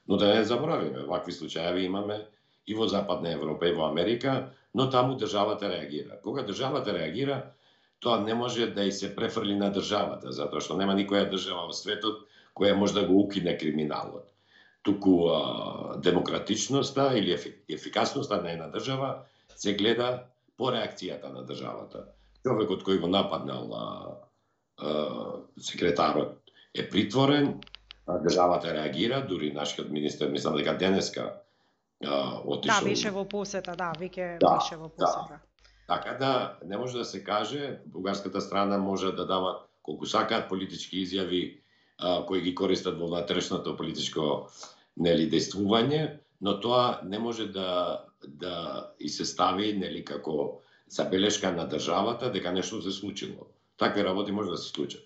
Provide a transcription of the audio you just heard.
Но да не заборавиме, вакви случаи имаме и во Западна Европа и во Америка, но таму државата реагира. Кога државата реагира, тоа не може да и се префрли на државата, затоа што нема никоја држава во светот која може да го укине криминалот. Туку демократичноста или ефикасноста на една држава се гледа по реакцијата на државата. Човекот кој го нападнал секретарот е притворен, државата реагира, дури нашиот министер, мислам дека денеска отишол. Да, беше во посета, веќе беше во посета. Така да, не може да се каже, бугарската страна може да дава колку сакаат политички изјави кои ги користат во внатрешното политичко дејствување, но тоа не може да и се стави како забелешка на државата дека нешто се случило. Такви работи може да се случат.